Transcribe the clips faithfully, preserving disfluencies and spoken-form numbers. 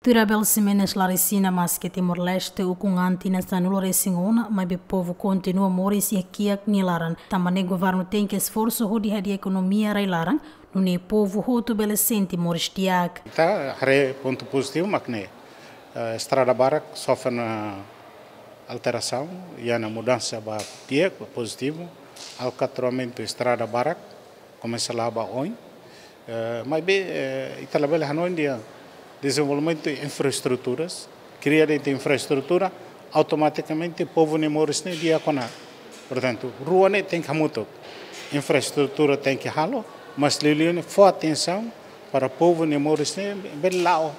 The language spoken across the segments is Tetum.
Tuir Abel Ximenes Larisina, maske Timor-Leste ukun an tinan sanulu-resin-ona, maibé povu kontinua moris iha kiak nia laran. Tanba ne'e governu tenke esforsu hodi hadi'a ekonomia rai-laran, nune'e povu hotu bele sente moris di'ak. Ita haree pontu pozitivu mak ne'e, eh, estrada barak sofre ona alterasaun, iha ona mudansa ba di'ak, ba pozitivu, alkatroamentu estrada barak komesa la'o ba oin. Eh, maibé, eh, ita labele hanoin dehan dezenvolvimentu infraestruturas, kria de'it infraestrutura, automatikamente povu nia moris ne'e di'ak ona. Portantu, rua ne'e tenke hamutuk. Infraestrutura tenke halo, mas liuliu ne'e fó atensaun para povu nia moris ne'e bele la'o.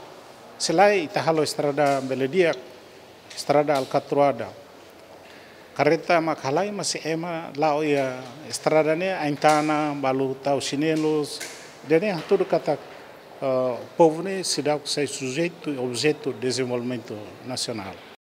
Se lae ita halo estrada bele di'ak, estrada alkatroada. Karreta mak halai, mas ema la'o iha estrada ne'e, ain-tanan, balu tau xinelus. Ida-ne'e hatudu katak, eh, povu ne'e seidauk sai sujeitu, objetu dezenvolvimentu nasionál.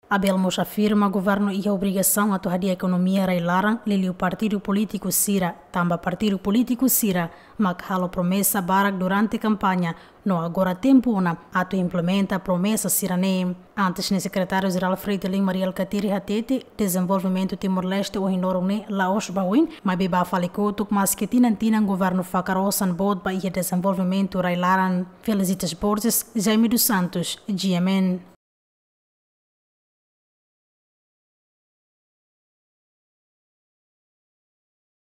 Abel mós afirma governu iha obrigasaun atu hadi'a ekonomia rai-laran, liuliu partidu polítiku sira, tanba partidu polítiku sira mak halo promesa barak durante kampaña, no agora tempu ona atu implementa promesa sira-ne'e. Antes ne'e Sekretáriu-Jerál Fretilin Mari Alkatiri hatete, dezenvolvimentu Timor-Leste ohin loron ne'e la'ós ba oin, maibé ba fali kotuk, maske tinan-tinan governu fakar osan boot ba iha dezenvolvimentu rai-laran. Felicitas Borges, Jaime dos Santos, G M N.